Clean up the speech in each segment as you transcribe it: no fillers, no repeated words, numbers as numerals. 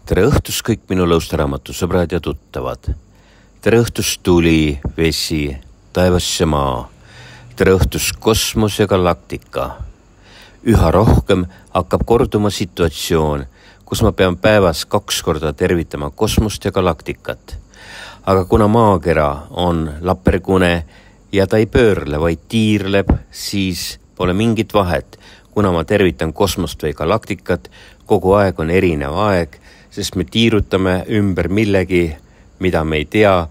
Tere õhtust kõik minu lõustaraamatu sõbrad ja tuttavad. Tere õhtust tuli, vesi, taevas ja maa. Tere õhtust kosmos ja galaktika. Üha rohkem hakkab korduma situatsioon, kus ma pean päevas 2 korda tervitama kosmost ja galaktikat. Aga kuna maakera on lapergune ja ta ei pöörle, vaid tiirleb, siis pole mingit vahet. Kuna ma tervitan kosmost või galaktikat, kogu aeg on erinev aeg, sest me tiirutame ümber millegi, mida me ei tea,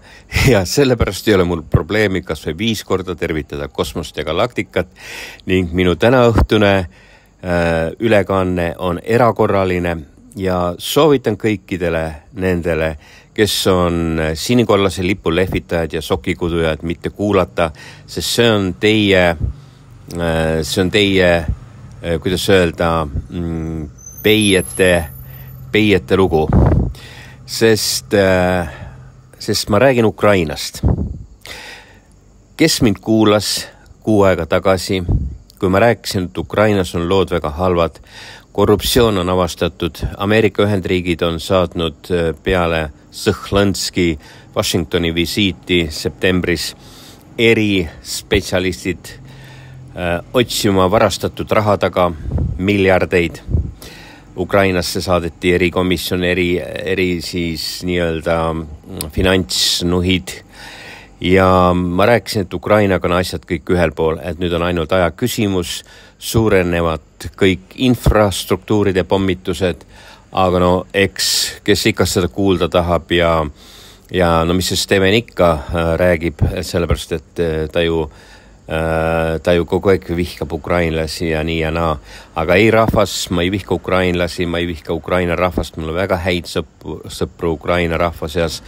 ja sellepärast ei ole mul probleemi kas või 5 korda tervitada kosmost ja galaktikat, ning minu tänaõhtune ülekanne on erakorraline ja soovitan kõikidele nendele, kes on sinikollase lipu lehvitajad ja sokikudujad, mitte kuulata, sest see on teie, kuidas öelda, peiete lugu, sest ma räägin Ukrainast. Kes mind kuulas 6 aega tagasi, kui ma rääkisin, et Ukrainas on lood väga halvad, korruptsioon on avastatud, Ameerika Ühendriigid on saatnud peale Sõhlanski Washingtoni visiiti septembris erispetsialistid otsima varastatud raha taga miljardeid. Ukrainasse saadeti erikomisjon, eri siis nii-öelda finantsnuhid ja ma rääkisin, et Ukrainaga on asjad kõik ühel pool, et nüüd on ainult aja küsimus, suurenevad kõik infrastruktuuride pommitused, aga no eks, kes ikka seda kuulda tahab ja no mis see Steven ikka räägib, sellepärast, et ta ju kogu aeg vihkab ukrainlasi ja nii ja naa. Aga ei rahvas, ma ei vihka ukrainlasi, ma ei vihka Ukraina rahvast, mul on väga häid sõpru Ukraina rahva seas.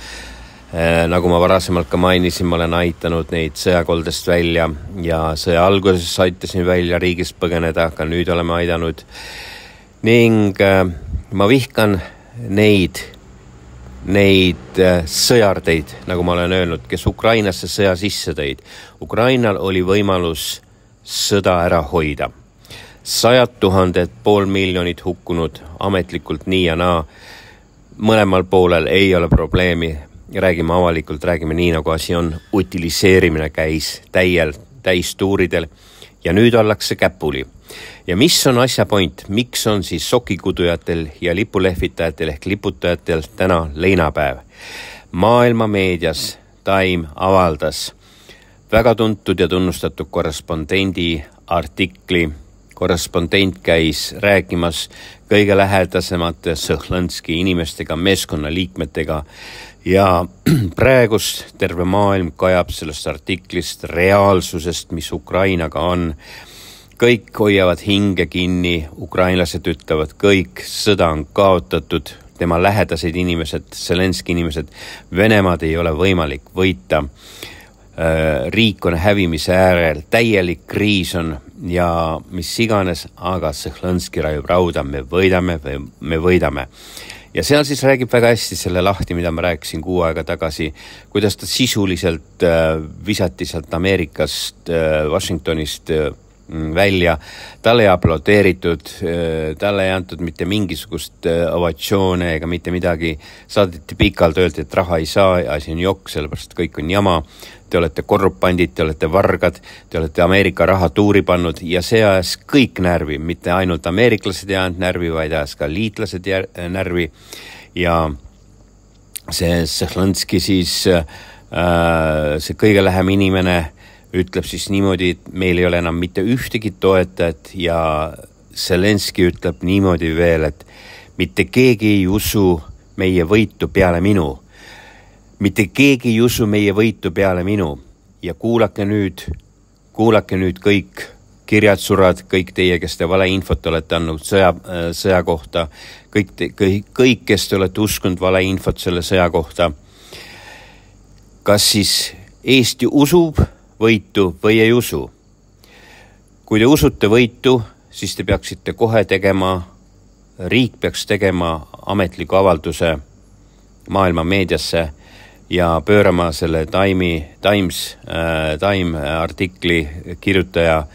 Nagu ma varasemalt ka mainisin, ma olen aitanud neid sõjakoldest välja ja sõja alguses aitasin välja riigist põgeneda, aga nüüd oleme aidanud. Ning ma vihkan neid sõjardeid, nagu ma olen öelnud, kes Ukrainasse sõja sisse tõid. Ukrainal oli võimalus sõda ära hoida. 100 000, 500 000 hukkunud ametlikult nii ja naa. Mõlemal poolel ei ole probleemi. Räägime avalikult, räägime nii, nagu asi on. Utiliseerimine käis täistuuridel ja nüüd ollakse käpuli. Ja mis on asja point? Miks on siis sokikudujatel ja lipulehvitajatel ehk liputajatel täna leinapäev? Maailma meedias Time avaldas väga tuntud ja tunnustatud korrespondendi artikli. Korrespondent käis rääkimas kõige lähedasemate Sõhlanski inimestega, meeskonnaliikmetega ja praegust terve maailm kajab sellest artiklist reaalsusest, mis Ukrainaga on. Kõik hoiavad hinge kinni, ukrainlased ütlevad kõik, sõda on kaotatud, tema lähedased inimesed, Zelenski inimesed, Venemaad ei ole võimalik võita. Riik on hävimise äärel, täielik kriis on ja mis iganes, aga Sõhlanski rajub rauda, me võidame. Ja seal siis räägib väga hästi selle lahti, mida ma rääkisin 6 aega tagasi, kuidas ta sisuliselt visati sealt Ameerikast, Washingtonist välja, talle ei aplodeeritud, talle ei antud mitte mingisugust ovatsioone ega mitte midagi, saadeti pikalt, öeldi, et raha ei saa, asi on jokk, sellepärast kõik on jama, te olete korrupandid, te olete vargad, te olete Ameerika raha tuuri pannud ja see ajas kõik närvi, mitte ainult ameeriklased jäänud närvi, vaid ajas ka liitlased närvi ja see Sõhlanski siis, see kõige lähem inimene ütleb siis niimoodi, et meil ei ole enam mitte ühtegi toetajat ja Zelenski ütleb niimoodi veel, et mitte keegi ei usu meie võitu peale minu. Mitte keegi ei usu meie võitu peale minu. Ja kuulake nüüd kõik kirjatsurad, kõik teie, kes te valeinfot olete andnud sõja kohta, kõik, kes te olete uskunud valeinfot selle sõja kohta. Kas siis Eesti usub võitu või ei usu? Kui te usute võitu, siis te peaksite kohe tegema, riik peaks tegema ametliku avalduse maailma meediasse ja pöörama selle Time artikli kirjutaja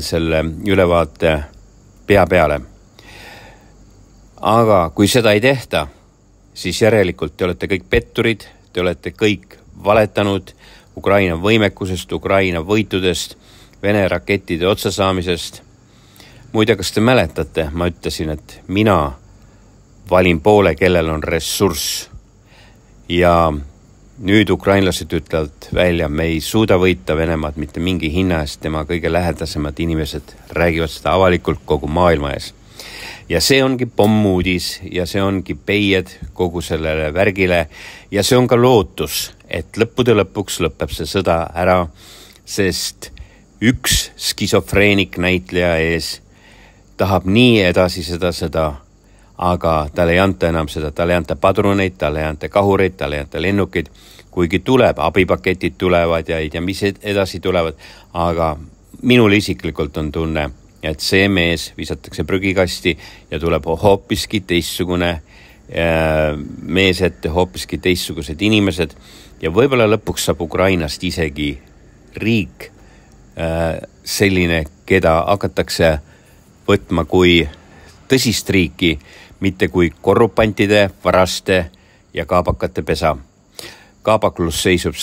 selle ülevaate pea peale. Aga kui seda ei tehta, siis järelikult te olete kõik petturid, te olete kõik valetanud Ukraina võimekusest, Ukraina võitudest, Vene rakettide otsasaamisest. Muide, kas te mäletate, ma ütlesin, et mina valin poole, kellel on ressurss. Ja nüüd ukrainlased ütlevad välja, me ei suuda võita Venemaad mitte mingi hinna eest, tema kõige lähedasemad inimesed räägivad seda avalikult kogu maailma ees. Ja see ongi pommuudis ja see ongi peied kogu sellele värgile ja see on ka lootus, et lõppude lõpuks lõpeb see sõda ära, sest üks skisofreenik näitleja ees tahab nii edasi seda, aga talle ei anta enam seda, talle ei anta padruneid, talle ei anta kahureid, talle ei anta lennukid, kuigi tuleb, abipaketid tulevad ja mis edasi tulevad, aga minul isiklikult on tunne, et see mees visatakse prügikasti ja tuleb hoopiski teistsugune mees ette, hoopiski teistsugused inimesed ja võib-olla lõpuks saab Ukrainast isegi riik selline, keda hakatakse võtma kui tõsist riiki, mitte kui korrupantide, varaste ja kaabakate pesa. Kaabaklus seisab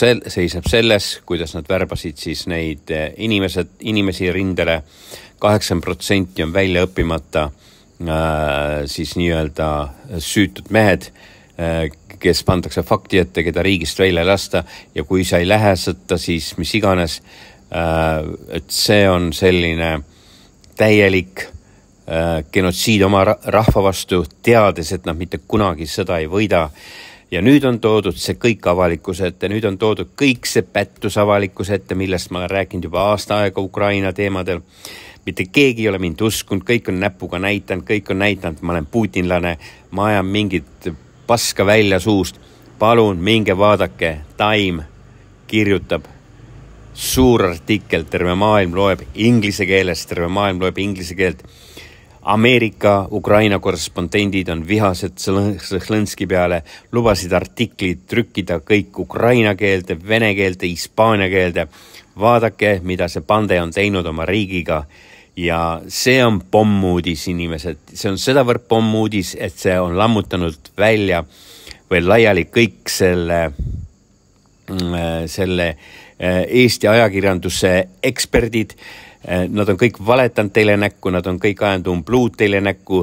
selles, kuidas nad värbasid siis neid inimesi rindele. 80% on välja õppimata siis nii-öelda süütud mehed, kes pandakse fakti ette, keda riigist välja lasta ja kui sa ei lähe sõtta, siis mis iganes, et see on selline täielik genotsiid oma rahva vastu, teades, et nad mitte kunagi sõda ei võida. Ja nüüd on toodud see kõik avalikkuse ette, nüüd on toodud kõik see pättus avalikkuse ette, millest ma olen rääkinud juba aasta aega Ukraina teemadel. Mitte keegi ei ole mind uskunud, kõik on näpuga näitanud, kõik on näitanud, ma olen putinlane, ma ajan mingit paska välja suust. Palun, minge vaadake, Time kirjutab suur artikkel, terve maailm loeb inglise keeles, terve maailm loeb inglise keelt. Ameerika, Ukraina korrespondendid on vihased Sõhlõnski peale, lubasid artiklid trükkida kõik ukraina keelde, vene keelde, hispaania keelde. Vaadake, mida see pande on teinud oma riigiga ja see on pommuudis inimesed. See on sedavõrd pommuudis, et see on lammutanud välja või laiali kõik selle Eesti ajakirjanduse eksperdid. Nad on kõik valetanud teile näkku, nad on kõik ajanud umbluud teile näkku,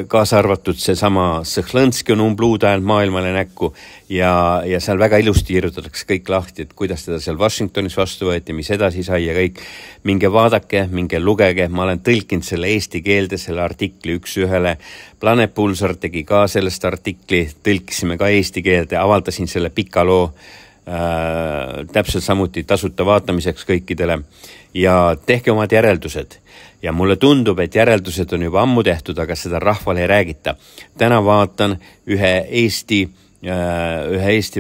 kaasa arvatud see sama Sõhlõnski on umbluud ajanud maailmale näkku ja seal väga ilusti kirjutatakse kõik lahti, et kuidas teda seal Washingtonis vastu võeti, mis edasi sai ja kõik. Minge vaadake, minge lugege, ma olen tõlkinud selle eesti keelde, selle artikli üks ühele. Planet Pulsar tegi ka sellest artikli, tõlkisime ka eesti keelde, avaldasin selle pika loo täpselt samuti tasuta vaatamiseks kõikidele ja tehke omad järeldused. Ja mulle tundub, et järeldused on juba ammu tehtud, aga seda rahvale ei räägita. Täna vaatan ühe Eesti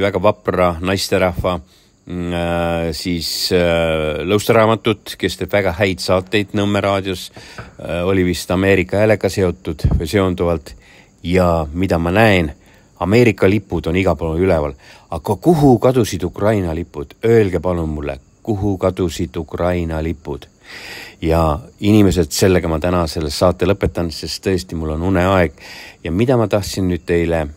väga vapra naisterahva siis lõustaraamatut, kes teeb väga häid saateid Nõmme raadios, oli vist Ameerika häälega seotud või seonduvalt ja mida ma näen, Ameerika lipud on iga pool üleval, aga kuhu kadusid Ukraina lipud? Öelge palun mulle, kuhu kadusid Ukraina lipud? Ja inimesed, sellega ma täna selle saate lõpetan, sest tõesti mul on uneaeg. Ja mida ma tahtsin nüüd teile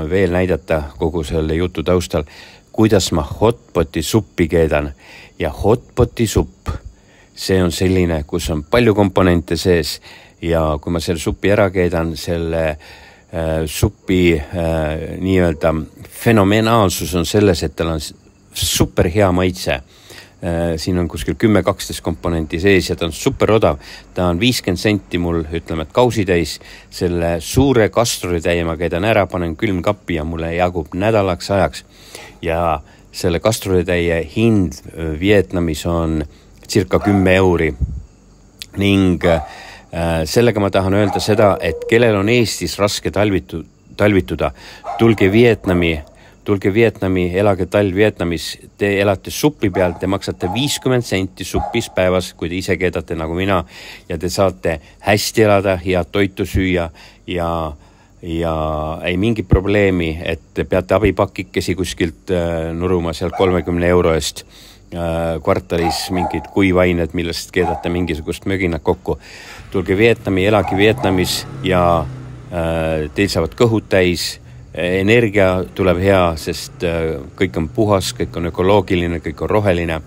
veel näidata kogu selle jutu taustal, kuidas ma hotpoti suppi keedan. Ja hotpoti supp, see on selline, kus on palju komponente sees ja kui ma selle suppi ära keedan, selle supi nii-öelda fenomenaalsus on selles, et tal on super hea maitse. Siin on kuskil 10-12 komponenti sees ja ta on super odav. Ta on 50 senti mul, ütleme, et kausitäis. Selle suure kastrolitäie ma keedan ära, panen külmkappi ja mulle jagub nädalaks ajaks. Ja selle kastrolitäie hind Vietnamis on circa 10 euri. Ning sellega ma tahan öelda seda, et kellel on Eestis raske talvituda, tulge Vietnami, elage talv Vietnamis, te elate suppi peal, te maksate 50 senti suppis päevas, kui te ise keedate nagu mina ja te saate hästi elada, head toitu süüa ja ei mingi probleemi, et te peate abipakikesi kuskilt nuruma seal 30 euro eest kvartalis mingid kuivained, millest keedate mingisugust möginat kokku. Tulge Vietnami, elage Vietnamis ja teil saavad kõhud täis, Energia tuleb hea, sest kõik on puhas, kõik on ökoloogiline, kõik on roheline.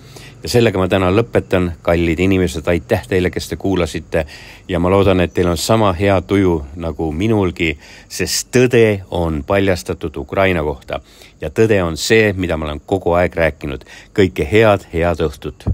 Ja sellega ma täna lõpetan, kallid inimesed, aitäh teile, kes te kuulasite. Ja ma loodan, et teil on sama hea tuju nagu minulgi, sest tõde on paljastatud Ukraina kohta. Ja tõde on see, mida ma olen kogu aeg rääkinud. Kõike head õhtut!